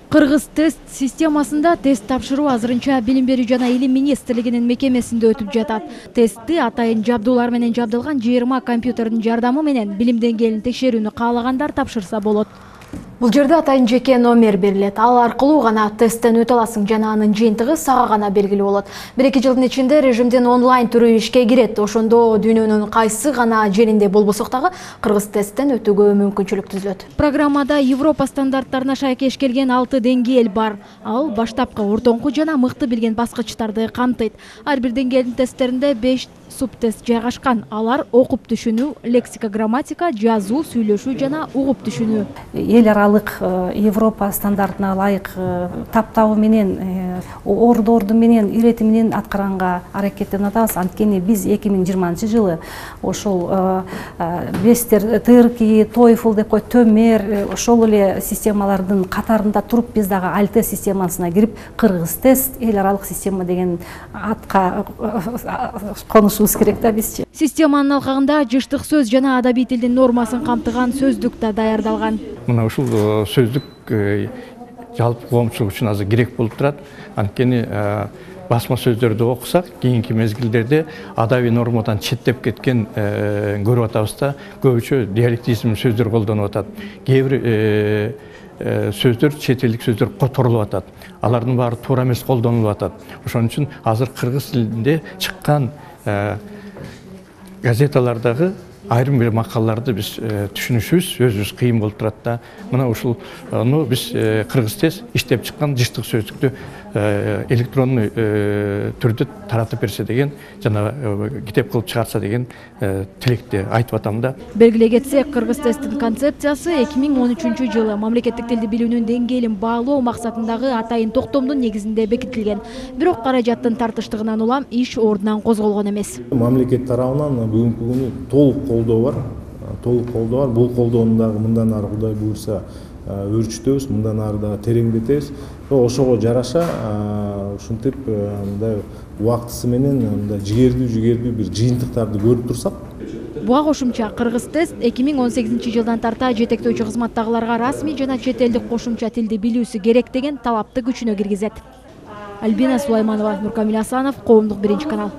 Кыргыз тест системасында тест тапшыруу азырынча Билим берүү жана Илим министрлигинин мекемесинде өтүп жатат. Тестти атайын жабдуулар менен жабдылган 20 компьютердин жардамы менен билим деңгээлин текшерүүнү каалагандар тапшырса болот. Бул жерде атайын жеке номер берилет. Ал аркылуу гана тесттен өтө аласың жана анын жыйынтыгы сага гана белгилүү болот. 1-2 жылдын ичинде режимдин онлайн түрү ишке кирет. Ошондо дүйнөнүн кайсы гана жеринде болбосок дагы кыргыз тесттен өтүүгө мүмкүнчүлүк түзүлөт. Программада Европа стандарттарына шайкеш келген 6 деңгээл бар. Ал баштапкы, ортоңку жана мыкты билген баскычтарды камтыйт. Ар бир деңгээлдин тесттеринде 5 субтест жайгашкан. Алар окуп түшүнүү, лексика, грамматика, жазуу, сүйлөшүү жана угуп түшүнүү. Эл аралык Европа стандартына ылайык таптабы менен, ордорду менен, ирети менен аткаранга аракеттенип атабыз. Анткени биз 2020-жылы ошол бестер, ТРК, TOEFL деп коет, төмөр, ошол эле системалардын катарында туруп биз дагы АЛТ системасына кирип, кыргыз тест эл аралык система деген атка конушубуз керек да бизчи. Системанын алкагында жыштык сөз жана адабий тилдин нормасын камтыган сөздүк да даярдалган. Мына ушул сөздүк жалпы коомчулук үчүн азыр керек болуп турат. Анткени басма сөздөрдү окусак, кийинки мезгилдерде адабий нормадан четтеп кеткен көрүп атабыз да, көбүчө диалектизм сөздөр колдонуп атат. Кээ бир сөздөр, чет элдик сөздөр которулуп атат. Алардын баары туура эмес колдонулуп атат. Ошон үчүн азыр кыргыз тилинде чыккан газеталардагы айрым бир макалаларды биз түшүнүшүбүз өзүбүз кыйын болуп турат да. Мына ушуну биз кыргыз тест иштеп чыккан жыштык сөздүктү электронный түрдө таратып берсе деген, жана китеп кылып чыгарса деген тилекти айтып атам да. Белгилей кетсек, кыргыз тесттин концепциясы 2013-жылы мамлекеттик тилди билүүнүн деңгээлин баалоо максатындагы атайын токтомдун негизинде бекитилген. Бирок каражаттын тартыштыгынан улам иш ордунан козголгон эмес. Мамлекет тарабынан бүгүнкү күнү толук колдоо бар. Бул колдоону дагы мындан ары Кудай буйрса өрчүтөбүз, мындан ары дагы тереңдетебиз. Ошого жараша ушинтип мындай убактысы менен мындай жигердүү бир жыйынтыктарды көрүп турсак. Буга кошумча кыргыз тест 2018-жылдан тарта жетектөөчү кызматтагыларга расмий жана чет элдик кошумча тилди билүүсү керек деген талапты күчүнө киргизет. Альбина Сулайманова, Нуркамил Асанов, Коомдук 1 канал.